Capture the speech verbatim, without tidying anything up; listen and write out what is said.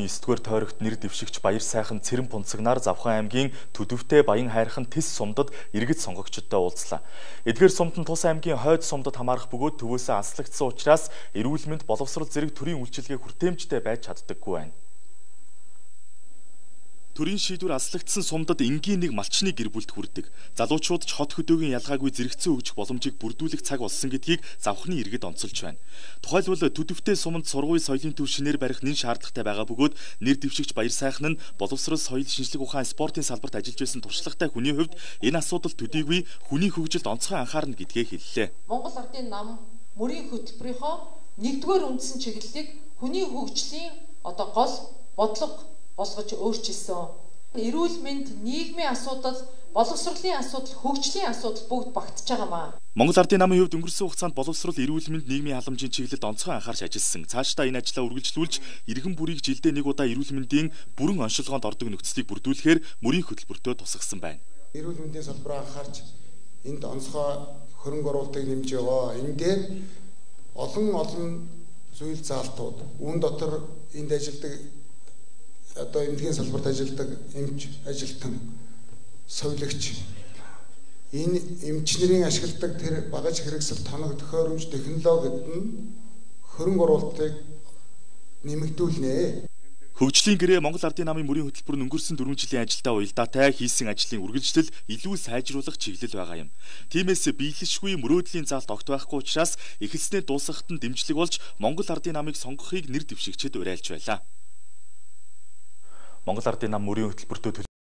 эсдүгээр тойрогт нэр дэвшигч Баяр сайхан Цэрэн Пунцагнаар Завхан аймгийн Төдөвтэй Баян хайрхан Тис сумдад иргэд сонгогчдод уулзлаа. Эдгээр сумд нь Тус аймгийн Хойд сумдад хамаарах бөгөөд төвөөсөө аслагдсан учраас эрүүл мэнд боловсрол зэрэг төрийн үйлчилгээ хүртээмжтэй байж чаддаггүй байна. Төрийн шийдвэр аслагдсан сумдад энгийн нэг малчны гэр бүлд хүрдэг. Залуучууд ч хот хөдөөгийн ялгаагүй зэрэгцэн өгжих боломжийг бүрдүүлэх цаг болсон гэдгийг завхны иргэд онцолж байна. Тухайлбал Төдөвтэй суманд сургуулийн соёлын төв шинээр барих нэн шаардлагатай байгаа бөгөөд нэр дэвшигч Баяр сайхан нь боловсрол, соёл, шинжлэх ухаан, спортын салбарт ажиллаж байсан туршлагатай хүний хувьд энэ асуудал төдийгүй хүний хөгжилд онцгой анхаарна гэдгээ хэллээ. Монгол Ардын нам мөрийн хөтөлбөрийнхөө нэгдүгээр үндсэн чиглэлийг хүний хөгжлийн одоо гол бодлого болгож өөрчилсөн. Эрүүл мэнд, нийгмийн асуудал, боловсролын асуудал, хөгжлийн асуудал бүгд багтж байгаамаа. Монгол Ардын намын хувьд өнгөрсөн хугацаанд боловсрол, эрүүл мэнд, нийгмийн халамжийн чиглэлд онцгой анхаарч ажилласан. Цаашдаа энэ ажлаа үргэлжлүүлж, иргэн бүрийг жилдээ нэг удаа эрүүл мэндийн бүрэн оншилгоонд ордог нөхцөлийг бүрдүүлэхээр мөрийн хөтөлбөртөө тусгасан байна. Эрүүл мэндийн салбараа анхаарч энд онцгой хөрөнгө оруулалтыг нэмж байгаа. Энэ дээр олон олон зүйл заалтууд, үүн дотор энд ажилладаг одоо эмнэлгийн салбарт ажилладаг эмч, ажилтан, совилогч, энэ эмчнэрийн ашигладаг тэр багаж хэрэгсэл, тоног, төхөөрөмж, технологид нь хөрөнгө оруулалтыг нэмэгдүүлнэ. Хөгжлийн гэрээ Монгол Ардын намын мөрийн хөтөлбөр нь өнгөрсөн дөрвөн жилийн ажилдаа уялдаатай хийсэн ажлын үргэлжлэл илүү сайжруулах чиглэл байгаа юм. Тиймээс биелэшгүй мөрөөдлийн заалт огт байхгүй учраас эхэлснээ дуусгахад нь дэмжлэг болж Монгол Ардын намыг сонгохыг нэр дэвшигчид уриалж байлаа. Монгол Ардын нам мөрийн хөтөлбөртөө